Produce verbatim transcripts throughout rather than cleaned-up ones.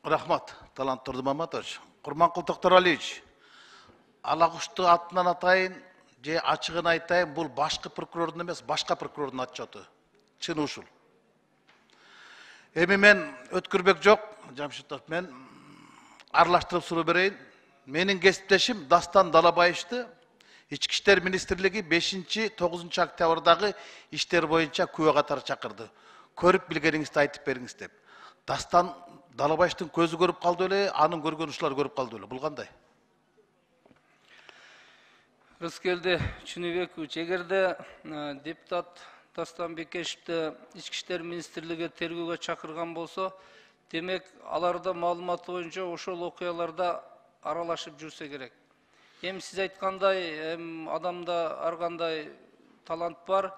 Рахмат, Талант Турдумаматович. Курманкул Токтуралиевич, Алагушту атынан атайын, же ачыгын айтайын, бул башкы прокурордун эмес, башка прокурордун отчету. Чын ушул. Эми мен өткүрбөк жок, Жамшитов, мен аралаштырып суроо берейин. Менин кесиптешим Дастан Далабаевичти Ички иштер министрлиги бешинчи тогузунчу октябрдагы иштер боюнча күбө катары чакырды. Көрүп билгениңизди айтып бериңиз деп. Дастан Далабаевичтин көзү көрүп калды эле, анын көргөн ушулар көрүп калды эле. Бул кандай? Рыскелди Чыныбекович, эгерде депутат Дастан Бекешевди Ички иштер министрлиги тергөөгө чакырган болсо, демек аларда маалыматы боюнча ошол окуяларда аралашып жүрсө керек. Эми сиз айткандай, адамда ар кандай талант бар.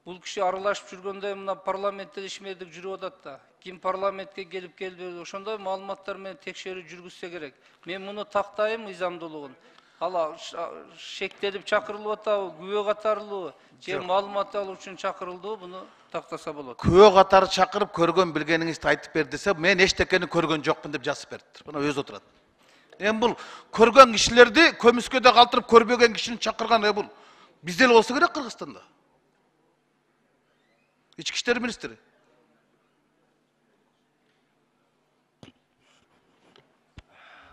Бул киши аралашып жүргөндө мына парламентте ишмердик жүрүп атат да. Ким парламентке келип келбеди, ошондой маалыматтар менен текшерүү жүргүзсө керек. Мен муну тактайм мыйзамдуулугун. Ала шектелип чакырылып атабы, күбө катарлыбы, же маалымат алуу үчүн чакырылдыбы, буну тактаса болот. Күбө катары чакырып көргөн билгениңизди айтып бер десе, мен эчтекени көргөн жокмун деп жазып берди. Мына өзү отурат. Эми бул көргөн кишилерди көмүскөдө калтырып көрбөгөн кишини чакырган бул бизде эле болсо керек Кыргызстанда. Ички иштер министри.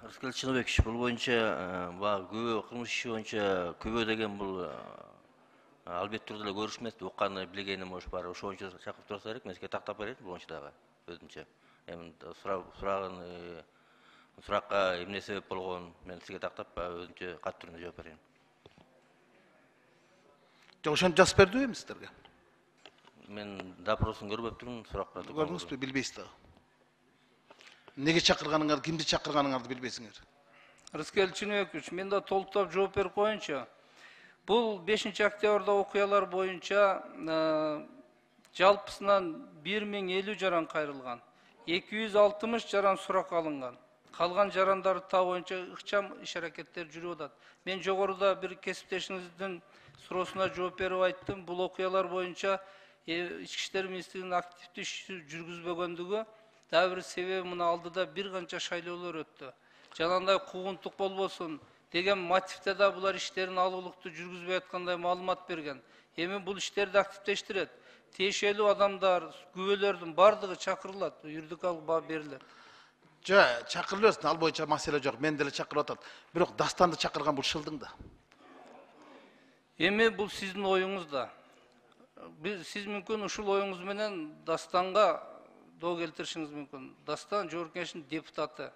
Рыскелди Чыныбекович, бул боюнча баягы күбө кылмыш иши боюнча күбө деген бул албетте түрдө эле көрүш эмес, укканы билгеним ош бар. Ошо боюнча чакырып турса керек, мен сизге тактап берейин бул боюнча дагы өзүнчө. Эми сурагын суракка эмне себеп болгон, мен сизге тактап өзүнчө кат түрүндө жооп берейин. Жок, ошентип жазып бердиби эми сиздерге? Мен допросун көрбөптүрмүн, суракка. Көрдүңүзбү, билбейсиз дагы. Неге чакырганыңарды, кимди чакырганыңарды билбейсиңер? Рыскелди Чыныбекович, мен да толуктап жооп берип коеюнчу. Бул бешинчи октябрда окуялар боюнча жалпысынан бир миң элүү жаран кайрылган. эки жүз алтымыш жаран сурак алынган. Калган жарандарды табуу боюнча ыкчам иш-аракеттер жүрүп атат. Мен жогоруда бир кесиптешиңиздин суроосуна жооп берип айттым. Бул окуялар боюнча Ички иштер министрлигинин активдүү иш жүргүзбөгөндүгү дагы бир себеби мына алдыда бир канча шайлоолор өттү. Жанагындай куугунтук болбосун деген мотивде да булар иштерин алуулуктуу жүргүзбөй аткандай маалымат берген. Эми бул иштерди активдештирет. Тиешелүү адамдар, күбөлөрдүн бардыгы чакырылат, юридикалык баа берилет. Жа, чакырылбасын, ал боюнча маселе жок. Мен деле чакырып атат. Бирок Дастанды чакырган бул шылдың да. Эми бул сиздин оюңуз да. Сиз мүмкүн ушул оюңуз менен Дастанга доо келтиришиңиз мүмкүн. Дастан Жогорку Кеңештин депутаты.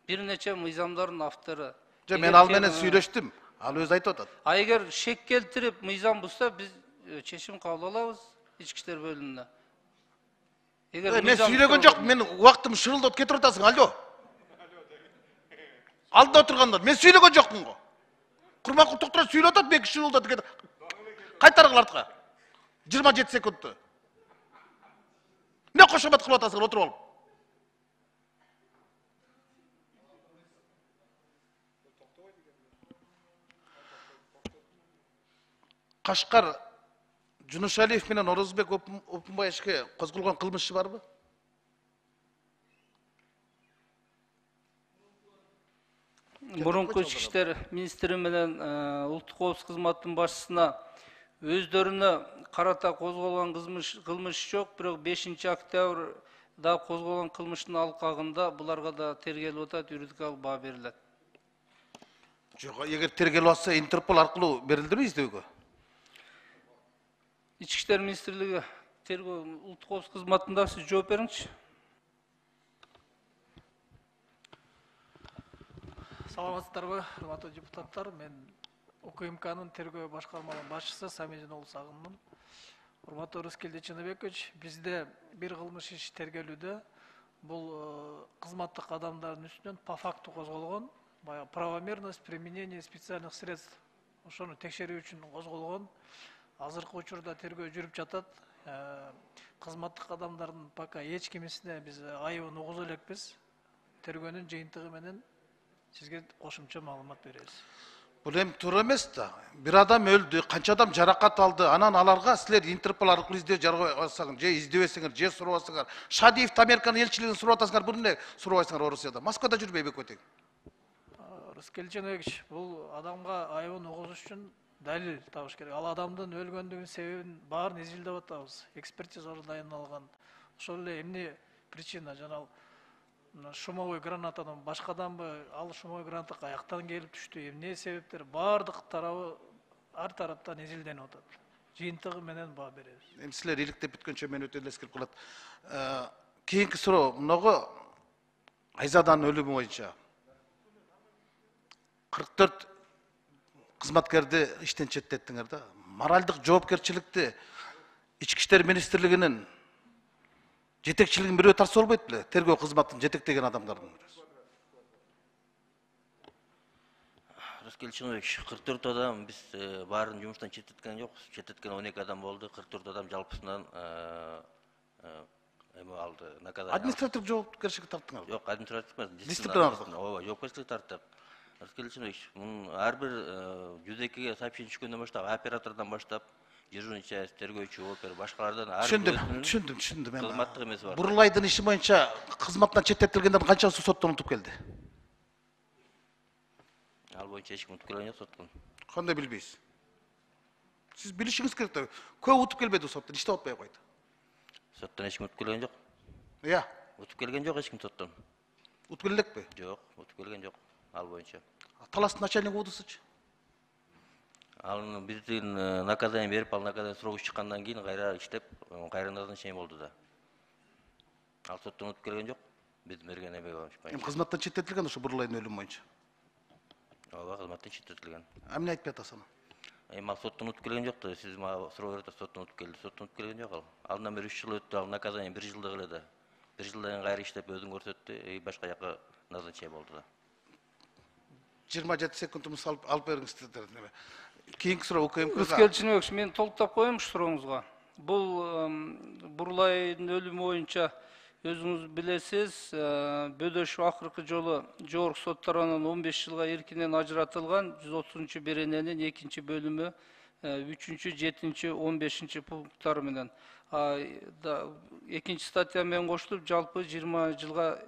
Бир нече мыйзамдардын автору. Жа, мен ал менен сүйлөштүм. Ал өзү айтып атат. А эгер шек келтирип мыйзам бузса, биз чечим кабыл алабыз ички иштер бөлүмүнө. Мен сүйлөгөн жок, мен убактым шырылдап кетип атасың, алло. Алдыда отургандар, мен сүйлөгөн жокмун го. Курманкул Токтуралиевич сүйлөп атат, мен шырылдап кетип. Кайтаргыла артка. жыйырма жети секундты. Не кошомат кылып атасыңар, отуруп алып. Кашкар Жунушалиев менен Орозбек Опунбаевичке козголгон кылмыш иши барбы? Мурунку ички иштер министри менен улуттук коопсуздук кызматынын башчысына өздөрүнө карата козголгон кылмыш жок, бирок бешинчи октябрда козголгон кылмыштын алкагында буларга да тергелип атат, юридикалык баа берилет. Жок, эгер тергелип атса, Интерпол аркылуу берилдиби издөөгө? Ички иштер министрлиги тергөө улуттук коопсуздук кызматында сиз жооп бериңизчи. Саламатсыздарбы, урматтуу депутаттар? Мен УКМКнын тергөө башкармалыгынын башчысы Самижин уулу Сагынмын. Урматтуу Рыскелди Чыныбекович, бизде бир кылмыш иш тергелүүдө бул кызматтык адамдардын үстүнөн по факту козголгон, баягы правомерность применения специальных средств. Ошону текшерүү үчүн козголгон. Азыркы учурда тергөө жүрүп жатат. Кызматтык адамдардын пока эч кимисине биз айыбын угуза элекпиз. Тергөөнүн жыйынтыгы менен сизге кошумча маалымат беребиз. Бул эми туура эмес да. Бир адам өлдү, канча адам жаракат алды. Анан аларга силер Интерпол аркылуу издөө жарабасаңар, же издебесеңер, же сурабасаңар. Шадиев Американын элчилигин сурап атасыңар, бул эмне сурабайсыңар Орусияда? Москвада жүрбөйбү экөө? Рыскел Чыныбекович, бул адамга айыбын угузуш үчүн далил табыш керек. Ал адамдын өлгөндүгүнүн себебин баарын изилдеп атабыз. Экспертизалар дайындалган. Ошол эле эмне причина жана шумовой гранатадан башкаданбы, ал шумовой граната каяктан келип түштү, эмне себептер баардык тарабы ар тараптан изилденип атат. Жыйынтыгы менен баа беребиз. Эми силер иликтеп бүткөнчө мен өтө эле эскерип калат. Кийинки суроо мынагы Айзаданын өлүмү боюнча кырк төрт кызматкерди иштен четтеттиңер да. Моралдык жоопкерчиликти Ички иштер министрлигинин жетекчилигин бирөө тартса болбойт беле? Тергөө кызматын жетектеген адамдардын. Рыскел Чыныбекович, кырк төрт адам биз баарын жумуштан четтеткен жокпуз. Четтеткен он эки адам болду. кырк төрт адам жалпысынан эме алды, наказание. Административдик жоопкерчиликке тарттыңар. Жок, административдик эмес, Дисциплинардык. Ооба, жоопкерчиликке тарттык. Рыскел Чыныбекович, мунун ар бир жүз экиге сообщение түшкөндөн баштап, оператордон баштап, дежурный часть, тергөөчү, опер, башкалардан ар Түшүндүм, түшүндүм, түшүндүм. кызматтык эмеси бар. Бурулайдын иши боюнча кызматтан четтетилгендердин канчасы соттон утуп келди? Ал боюнча эч ким утуп келген жок соттон. Кандай билбейсиз? Сиз билишиңиз керек да. Көп утуп келбеди соттон, иштеп атпай койду. Соттон эч ким утуп келген жок. Ыя, Утуп келген жок эч ким соттон. утуп келе элекпи? Жок, утуп келген жок ал боюнча. Таластын начальниги удусучу. Ал биздин наказание берип, ал наказание срогу чыккандан кийин кайра иштеп, кайра назначение болду да. Ал соттон утуп келген жок. Биз берген эме боюнча. Эми кызматтан четтетилген ошо Бурулайдын өлүмү боюнча. Ооба, кызматтан четтетилген. Эмне айтып атасың? Эми ал соттон утуп келген жок да, сиз мага суроо берип атасыз, соттон утуп келди. Соттон утуп келген жок ал. Алдан бери үч жыл өттү, ал наказание бир жылдык эле да. бир жылдан кийин кайра иштеп өзүн көрсөттү, и башка жака назначение болду да. жыйырма жети секундумуз алып бериңиз. Кийинки суроо УКМКга. Рыскел Чыныбекович, мен толуктап коеюн ушу сурооңузга. Бул Бурулайдын өлүмү боюнча өзүңүз билесиз, Бөдөшов акыркы жолу жогорку сот тарабынан он беш жылга эркинен ажыратылган жүз отузунчу берененин экинчи бөлүмү үчүнчү, жетинчи, он бешинчи пункттары менен. Экинчи статья менен кошулуп, жалпы жыйырма жылга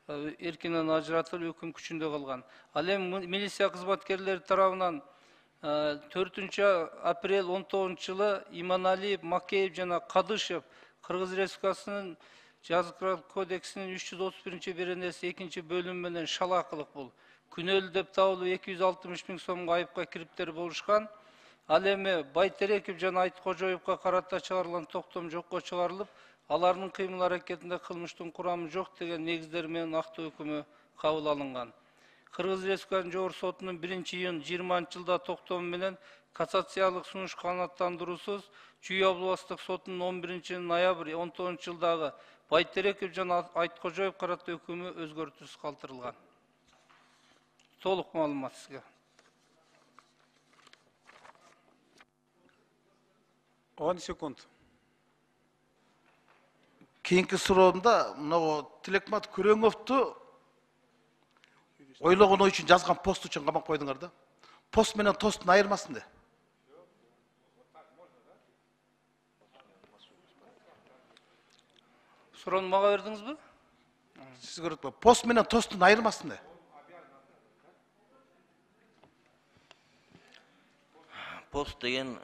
эркинен ажыратылып өкүм күчүндө калган. Ал эми милиция кызматкерлери тарабынан төртүнчү апрель он тогузунчу жылы Иманалиев, Макеев жана Кадышев Кыргыз Республикасынын Жаза кодексинин үч жүз отуз биринчи беренеси экинчи бөлүмү менен шалакылык бул. Күнөөлүү деп табылып эки жүз алтымыш миң сомго айыпка кириптер болушкан. Ал эми Байтереков жана Айткожоевго карата чыгарылган токтом жокко чыгарылып, алардын кыймыл аракетинде кылмыштын курамы жок деген негиздер менен актоо өкүмү кабыл алынган. Кыргыз Республикасынын жогорку сотунун биринчи июнь жыйырманчы жылда токтому менен кассациялык сунуш канааттандыруусуз Чүй областык сотунун он биринчи ноябрь он тогузунчу жылдагы Байтереков жана Айткожоев карата өкүмү өзгөртүүсүз калтырылган. Толук маалымат сизге. он секунд. Кийинки суроомда мына Тилекмат Күрөңовду ойлогон ой үчүн жазган пост үчүн камап койдуңар да. Пост менен тосттун айырмасын да. Суроону мага бердиңизби? Сиз көрөтпө. Пост менен тосттун айырмасын да. Пост деген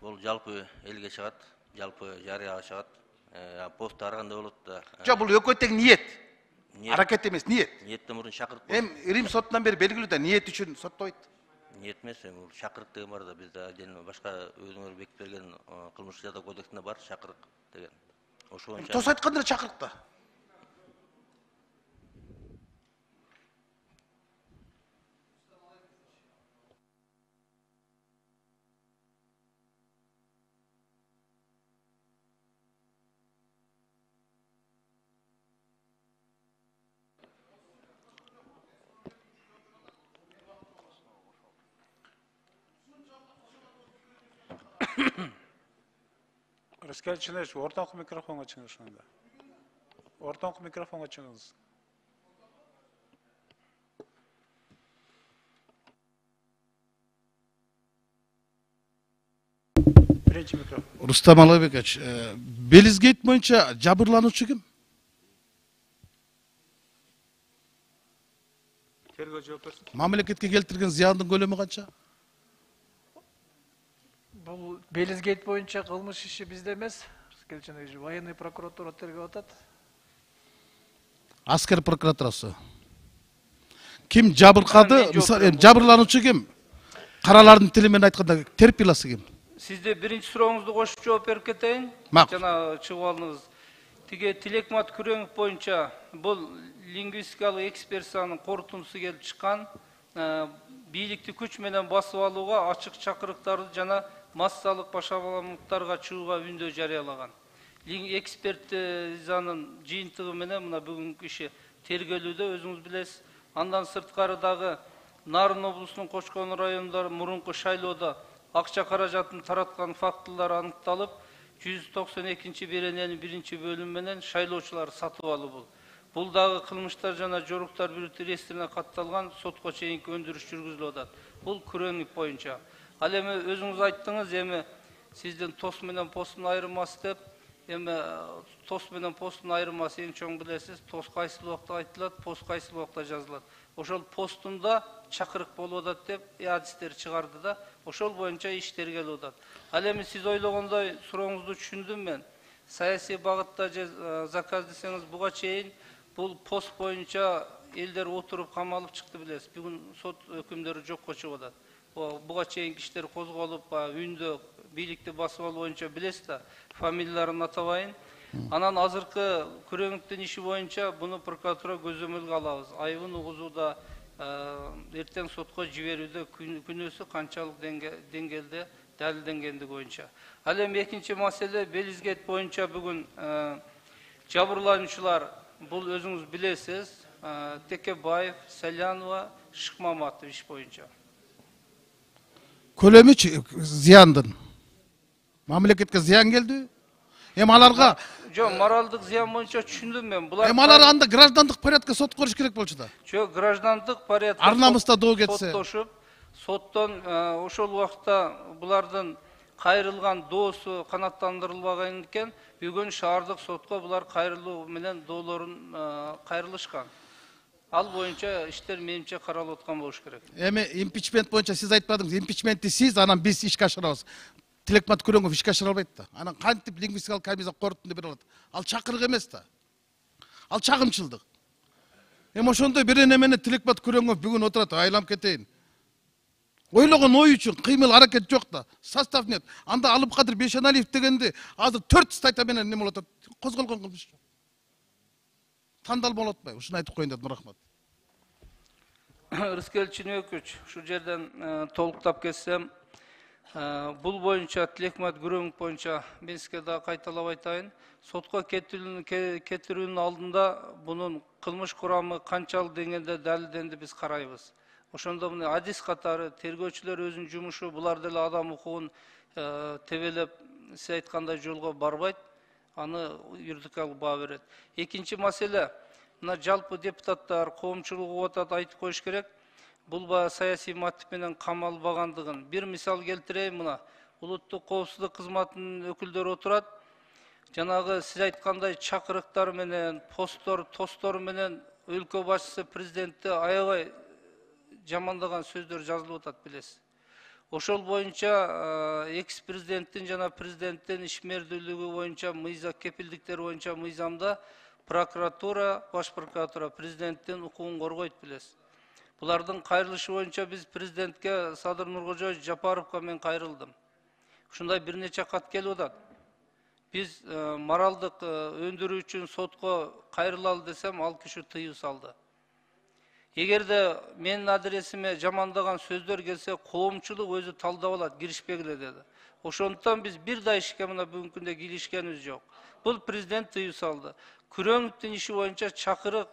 бул жалпы элге чыгат, жалпы жарыяга чыгат. Пост ар кандай болот да. Жок, бул экөө тең ниет. Аракет эмес, ниет. Ниеттен мурун шакырт. Эм Рим сотунан бери белгилүү да, ниет үчүн соттойт. Ниет эмес, бул шакырт деген бар да, бизде жана башка өзүңөр бекитип берген кылмыш жаза кодексинде бар шакырык деген. Ошо боюнча. Тос айтканда чакырык да. Рыскел Чыныбекович, ортоңку микрофонго чыгыңыз анда. Ортоңку микрофонго чыгыңыз. — Биринчи микрофон. Рустам Алабекович, Белизгейт боюнча жабырлануучу ким? Тергөө жооп берсин. Мамлекетке келтирген зыяндын көлөмү канча? Бул Белизгейт боюнча кылмыш иши бизде эмес. Келченеги военный прокуратура тергөө атат. Аскер прокуратурасы. Ким жабыркады? Мисалы, жабырлануучу ким? Каралардын тили менен айтканда терпиласы ким? Сизде биринчи сурооңузду кошуп жооп берип кетейин. Макул. Жана чыгып алдыңыз. Тиге Тилекмат Күрөңов боюнча бул лингвистикалык экспертизанын корутундусу келип чыккан. Бийликти күч менен басып алууга ачык чакырыктарды жана массалык башаламалыктарга чыгууга үндөө жарыялаган. Экспертизанын жыйынтыгы менен мына бүгүнкү иши тергөөлүүдө өзүңүз билесиз. Андан сырткары дагы Нарын облусунун Кочкон районунда мурунку шайлоодо акча каражатын тараткан фактылар аныкталып, жүз токсон экинчи берененин биринчи бөлүмү менен шайлоочулар сатып алуу бул. Бул дагы кылмыштар жана жоруктар бирөтү реестрине катталган сотко чейинки өндүрүш жүргүзүлүп атат. Бул Күрөңов боюнча. Ал эми өзүңүз айттыңыз, эми сиздин тос менен посттун айырмасы деп, эми тос менен посттун айырмасы эң чоң билесиз, тос кайсыл убакта айтылат, пост кайсыл убакта жазылат. Ошол посттунда чакырык болуп атат деп адистер чыгарды да, ошол боюнча иш тергелип атат. Ал эми сиз ойлогондой сурооңузду түшүндүм мен. Саясий багытта заказ десеңиз, буга чейин бул пост боюнча элдер отуруп камалып чыкты билесиз. Бүгүн сот өкүмдөрү жокко чыгып атат. Буга чейин кишилер козголуп, үндө бийликти басып алуу боюнча билесиз да, фамилияларын атабайын. Анан азыркы Күрөңовдун иши боюнча буну прокуратура көзөмөлгө алабыз. Айыбын угузууда, эртең сотко жиберүүдө күнөөсү канчалык деңгээлде далилденгендиги боюнча. Ал эми экинчи маселе Белизгейт боюнча бүгүн жабырлануучулар, бул өзүңүз билесиз, Текебаев, Салянова, Шыкмаматов иш боюнча. Көлөмү зыяндын. Мамлекетке зыян келди. Эми аларга Жок, моралдык зыян боюнча түшүндүм мен. Булар эми алар анда граждандык порядка сот коруш керек болчу да. Жок, граждандык порядка ар намыста доо кетсе. Соттошуп, соттон ошол убакта булардын кайрылган доосу канааттандырылбаган экен, бүгүн шаардык сотко булар кайрылуу менен доолорун кайрылышкан. Ал боюнча иштер менимче каралып аткан болуш керек. Эми импичмент боюнча сиз айтпадыңыз, импичментти сиз, анан биз ишке ашырабыз. Тилекмат Күрөңов ишке ашыра албайт да. Анан кантип лингвистикалык комиссия корутунду бере алат? Ал чакырык эмес да. Ал чагымчылдык. Эми ошондой бир эне менен Тилекмат Күрөңов бүгүн отурат, айланып кетейин. Ойлогон ой үчүн кыймыл аракет жок да. Состав нет. Анда Алыпкадыр Бейшеналиев дегенди азыр төрт статья менен неме болот, козголгон кылмыш. Тандал болот атпайбы? Ушуну айтып коеюн дедим, рахмат. Рыскел Чыныбекович, ушул жерден толуктап кетсем, бул боюнча Тилекмат Күрөңов боюнча мен сизге да кайталап айтайын. Сотко кетирүүнүн алдында бунун кылмыш курамы канчалык деңгээлде далилденди биз карайбыз. Ошондо мына адис катары тергөөчүлөр өзүнүн жумушу, булар деле адам укугун тебелеп, сиз айткандай жолго барбайт, аны юридикалык баа берет. Экинчи маселе, мына жалпы депутаттар, коомчулугу атат айтып коюш керек. Бул саясий мотив менен камалбагандыгын. Бир мисал келтирейин, мына улуттук коопсуздук кызматынын өкүлдөрү отурат. Жанагы сиз айткандай чакырыктар менен, посттор, тостор менен өлкө башчысы президентти аябай жамандаган сөздөр жазылып атат билесиз. Ошол боюнча экс-президенттин жана президенттин ишмердүүлүгү боюнча мыйзам кепилдиктер боюнча мыйзамда прокуратура, баш прокуратура президенттин укугун коргойт билесиз. Булардын кайрылышы боюнча биз президентке Садыр Нуркожоевич Жапаровго мен кайрылдым. Ушундай бир нече кат келип атат. Биз моралдык өндүрүү үчүн сотко кайрылалы десем, ал киши тыюу салды. Эгерде менин адресиме жамандаган сөздөр келсе, коомчулук өзү талдап алат, киришпегиле деди. Ошондуктан биз бир да ишке мына бүгүнкү күндө киришкенибиз жок. Бул президент тыюу салды. Күрөңовдун иши боюнча чакырык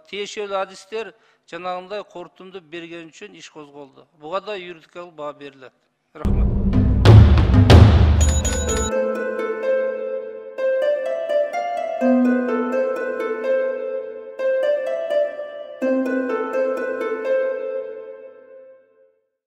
тиешелүү адистер жанагындай корутунду берген үчүн иш козголду. Буга да юридикалык баа берилет. Рахмат.